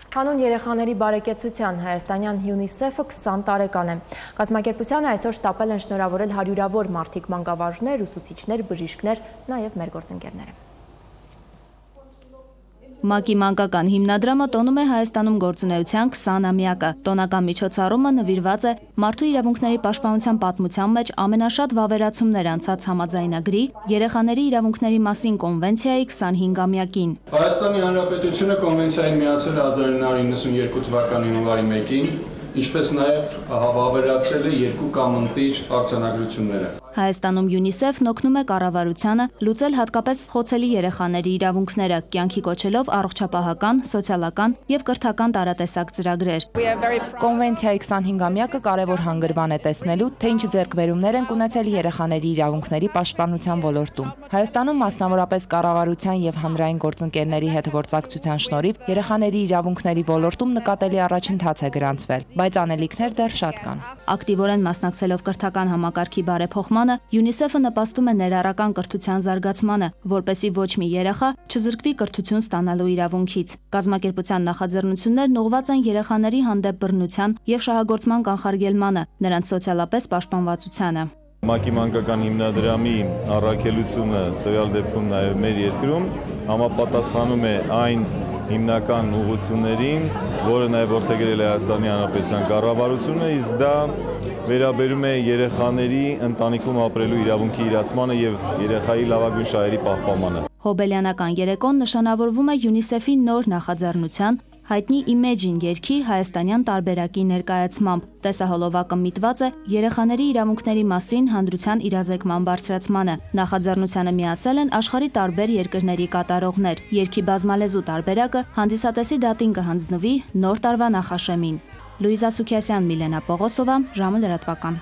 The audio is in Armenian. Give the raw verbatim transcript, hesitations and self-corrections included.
Հանուն երեխաների բարեկեցության հայաստանյան ՅՈՒՆԻՍԵՖ-ը քսան տարեկան է։ Կազմակերպությանը այսօր շտապել են շնորհավորել հարյուրավոր մարդիկ, մանկավարժներ, ուսուցիչներ, բժիշկներ, նաև մեր գործընկերները։ ՄԱԿ-ի մանկական հիմնադրամը տոնում է Հայաստանում գործունեության քսանամյակը։ Տոնական միջոցառումը նվիրված է մարդու իրավունքների պաշտպանության պատմության մեջ ամենաշատ վավերացումներ անցած համաձայնագրի երեխաների իրավունքների մասին կոնվենցիայի քսանհինգամյակին։ Հայաստանի Հանրապետությունը կոնվենցիային միացել է հազար նույն հարյուր իննսունյերկու թվականի հունվարի մեկին, ինչպես նաև հավավերացրել է երկու կամ ընտիր արձանագրությունները։ Հայաստանում ՅՈՒՆԻՍԵՖ-ն օգնում է կառավարությանը լուծել հատկապես խոցելի երեխաների իրավունքները, կյանքի կոչելով առողջապահական, սոցիալական եւ կրթական տարատեսակ ծրագրեր։ Կոնվենցիայի քսանհինգամյակը կարևոր հանգրվան է տեսնելու, թե ինչ ձեռքբերումներ են ունեցել երեխաների իրավունքների պաշտպանության ոլորտում։ Հայաստանում մասնավորապես կառավարության եւ հանրային գործընկերների հետ գործակցության շնորհիվ երեխաների իրավունքների ոլորտում նկատելի առաջընթաց է գրանցվել, բայց անելիքներ դեռ շատ կան։ Ակտիվորեն մասնակցելով կրթական համակարգի բարեփոխմանը, ՅՈՒՆԻՍԵՖ-ը նպաստում է ներառական կրթության զարգացմանը, որպեսզի ոչ մի երեխա չզրկվի կրթություն ստանալու իրավունքից։ Կազմակերպության նախաձեռնություններն ուղղված են երեխաների հանդեպ բռնության եւ շահագործման կանխարգելմանը, նրանց սոցիալապես պաշտպանվածությանը։ ՄԱԿ-ի մանկական հիմնադրամի առաքելությունը տվյալ դեպքում նաև մեր երկրում համապատասխանում է այն հիմնական ուղղություններին, որը նաև որդեգրել է Հայաստանի Հանրապետության կառավարությունը, իսկ դա վերաբերում է երեխաների ընտանիքում ապրելու իրավունքի իրացմանը եւ երեխայի լավագույն շահերի պահպանմանը։ Հոբելյանական երեկոն նշանավորվում է ՅՈՒՆԻՍԵՖ-ի նոր նախաձեռնության հայտնի Իմեջին երգի հայաստանյան տարբերակի ներկայացմամբ։ Տեսահոլովակը միտված է երեխաների իրավունքների մասին հանդրության իրազեկման բարձրացմանը։ Նախաձեռնությանը միացել են աշխարհի տարբեր երկրների կատարողներ։ Երգի բազմալեզու տարբերակը հանդիսատեսի դատին կհանձնվի նոր տարվա նախաշեմին։ Լուիզա Սուքիասյան, Միլենա Պողոսովա, ժամը լրատվական։